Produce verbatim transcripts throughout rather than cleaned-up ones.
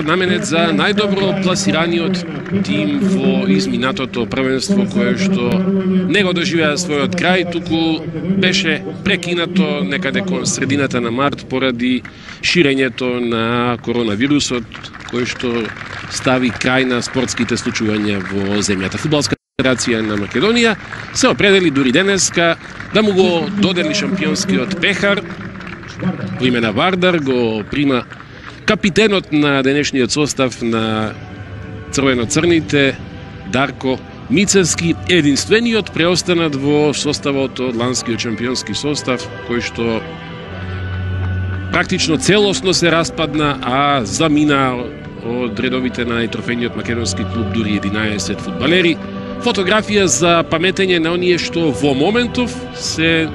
наменет за најдобро пласираниот тим во изминатото првенство, кое што не го доживеа својот крај, туку беше прекинато некаде кон средината на март поради ширењето на коронавирусот, кој што стави крај на спортските случувања во земјата. Фудбалска федерација на Македонија се определи дури денеска да му го додели шампионскиот пехар во име на Вардар, го прима капитенот на денешниот состав на црвено-црните Дарко Мицевски, единствениот преостанат во составот од ланскиот шампионски состав, кој што практично целосно се распадна, а замина од редовите на трофејниот македонски клуб дури единаесет фудбалери. Фотографија за паметење на оние што во моментов се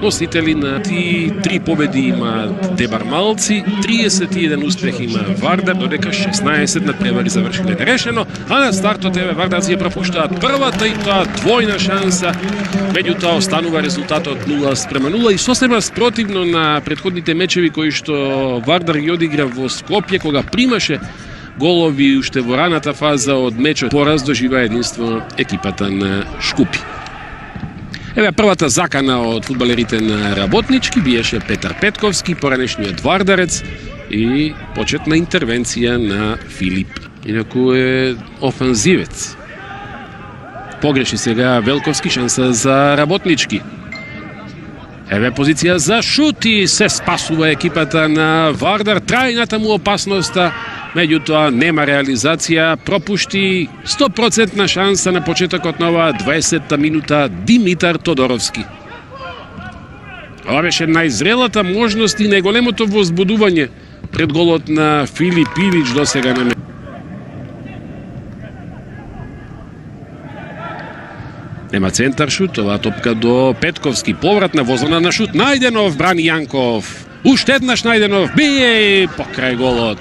носители на ти три победи имаат дебармалци, триесет и еден успех има Вардар, додека шеснаесет надпревари завршиле нерешено, а на стартот еве вардарци ја пропуштаат првата и тоа двојна шанса, меѓутоа останува резултатот нула спрема нула и сосема спротивно на претходните мечеви кои што Вардар ги одигра во Скопје, кога примаше голови уште во раната фаза од мечот. Пораз доживеа единство екипата на Шкупи. Еве првата закана од фудбалерите на Работнички биеше Петар Петковски, поранешниот вардарец, и почетна интервенција на Филип. Инаку е офанзивец. Погреши сега Велковски, шанса за Работнички. Еве позиција за шут и се спасува екипата на Вардар. Трајната му опасноста, меѓутоа нема реализација, пропушти сто процентна шанса на почетокот на оваа дваесетта минута Димитар Тодоровски. Ова беше најзрелата можност и најголемото возбудување пред голот на Филип Ивич досега на Нема центар шут, оваа топка до Петковски, повратна возона на шут, Најденов брани Јанков, уште еднаш Најденов бие покрај голот.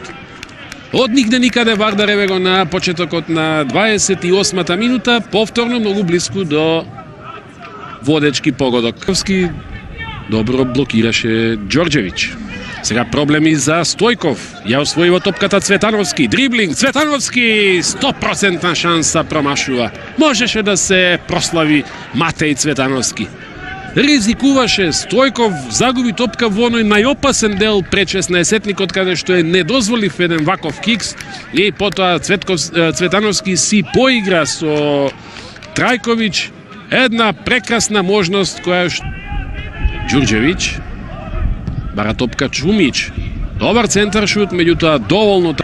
Од нигде никаде Вардар еве го на почетокот на дваесет и осмата минута, повторно многу близко до водечки погодок. Добро блокираше Ѓорѓевиќ. Сега проблеми за Стојков. Ја освоива топката Цветановски. Дриблинг. Цветановски. сто процентна шанса промашува. Можеше да се прослави Матеј Цветановски. Ризикуваше Стојков, загуби топка во оној најопасен дел пред шеснаесетникот, каде што е недозволив еден ваков кикс, и потоа Цветков, Цветановски си поигра со Трајковиќ. Една прекрасна можност која што Ѓурѓевиќ бара топка Чумич. Добар центар шут, меѓутоа доволно.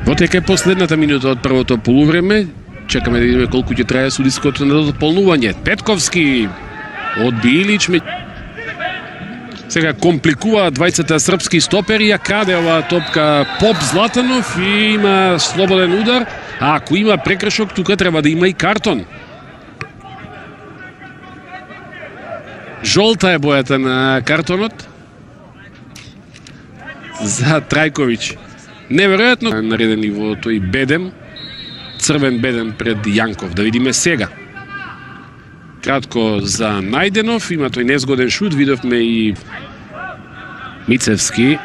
Потека е последната минута од првото полувреме. Чекаме да видиме колку ќе трае судиското надополнување. Петковски одби Илич. Сега компликуваат двајцата српски стопери, ја краде оваа топка Поп Златанов и има слободен удар. А ако има прекршок, тука треба да има и картон. Жолта е бојата на картонот за Трајковиќ. Неверојатно наредени во тој бедем, црвен бедем пред Јанков. Да видиме сега. Кратко за Најденов, има тој незгоден шут, видовме и Мицевски.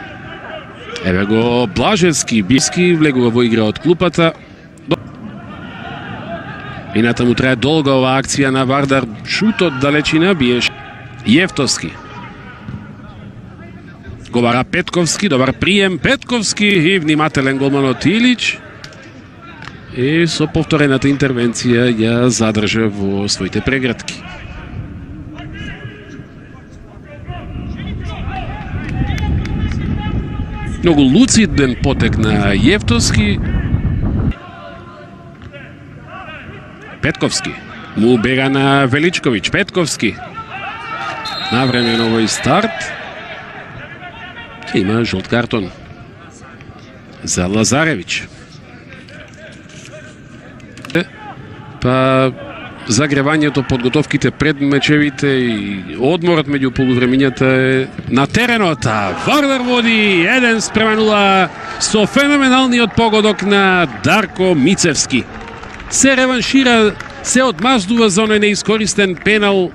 Еве го Блажевски, Биски влегува во игра од клупата. Ината му трае долга оваа акција на Вардар. Шутот далечина биеше Јефтовски. Го бара Петковски, добар прием Петковски и внимателен голманот Илич. И со повторената интервенција ја задржа во своите прегратки. Многу луциден потек на Јефтовски. Петковски му бега на Величковиќ. Петковски навремен овој старт. Ќе има жолт картон за Лазаревиќ. Па загревањето, подготовките пред мечевите и одморот меѓу полувремињата е на теренот. Вардар води еден спрема нула со феноменалниот погодок на Дарко Мицевски. Се реваншира, се одмаздува за оној неискористен пенал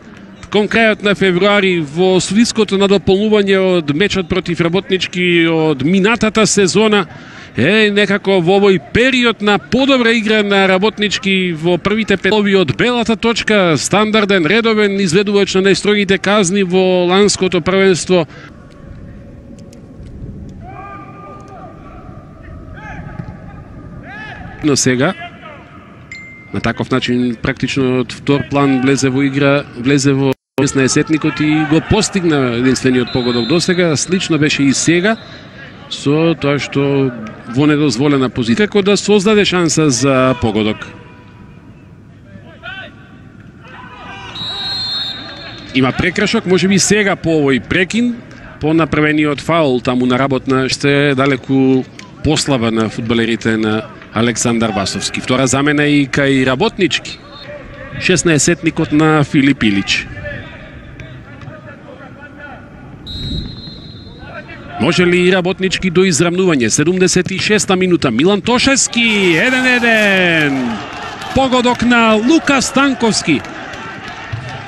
кон крајот на февруари во судиското надополнување од мечот против Работнички од минатата сезона, е некако во овој период на подобра игра на Работнички во првите петови од белата точка, стандарден, редовен изведувач на најстрогите казни во ланското првенство. Но сега на таков начин практично од втор план влезе во игра, влезе во шеснаесетникот и го постигна единствениот погодок досега. Слично беше и сега со тоа што во недозволена позиција како да создаде шанса за погодок. Има прекршок, можеби сега по овој прекин, по направениот фаул таму на работна, ще далеку послаба на фудбалерите на Александар Васовски. Втора замена и кај Работнички. шеснаесетникот на Филип Илич. Може ли Работнички до израмнување? седумдесет и шеста минута. Милан Тошевски, еден еден. Погодок на Лука Станковски.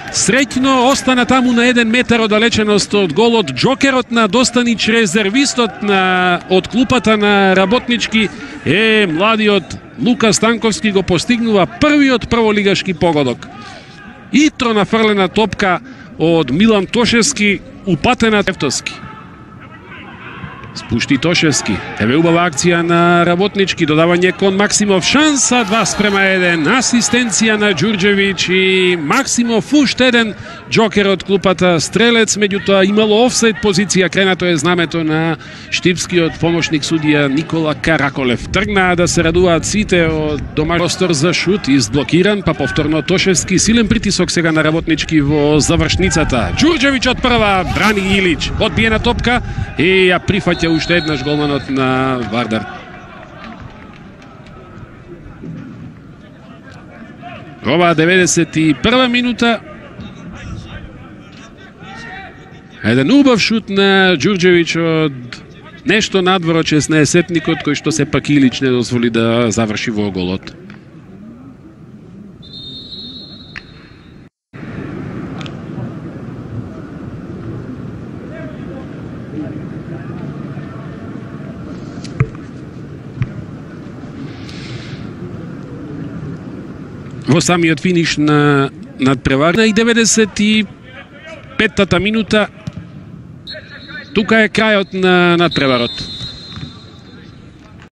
Среќно остана таму на еден метар оддалеченост од голот. Джокерот на Достанич, резервистот на од клупата на Работнички, е младиот Лука Станковски го постигнува првиот прволигашки погодок. Итро нафрлена топка од Милан Тошевски, упатена Тевтовски. Спушти Тошевски. Еве убава акција на Работнички, додавање кон Максимов, шанса два спрема еден, асистенција на Ѓурѓевиќ и Максимов уште еден џокер од клупата стрелец, меѓутоа имало офсайд позиција, кренато е знамето на штипскиот помошник судија Никола Караколев. Тргнаа да се радуваат сите од дома. Простор за шут изблокиран, па повторно Тошевски, силен притисок сега на Работнички во завршницата. Ѓурѓевиќ од прва, брани Илич, одбиена топка и ја прифаќа уште еднаш голманот на Вардар. Ова деветдесет и прва минута. Еден убав шут на Ѓурѓевиќ од нешто надвор од шеснаесетникот, кој што сепак Илич не дозволи да заврши во голот. Во самиот финиш на надпреварна и деветдесет и петтата минута, тука е крајот на надпреварот.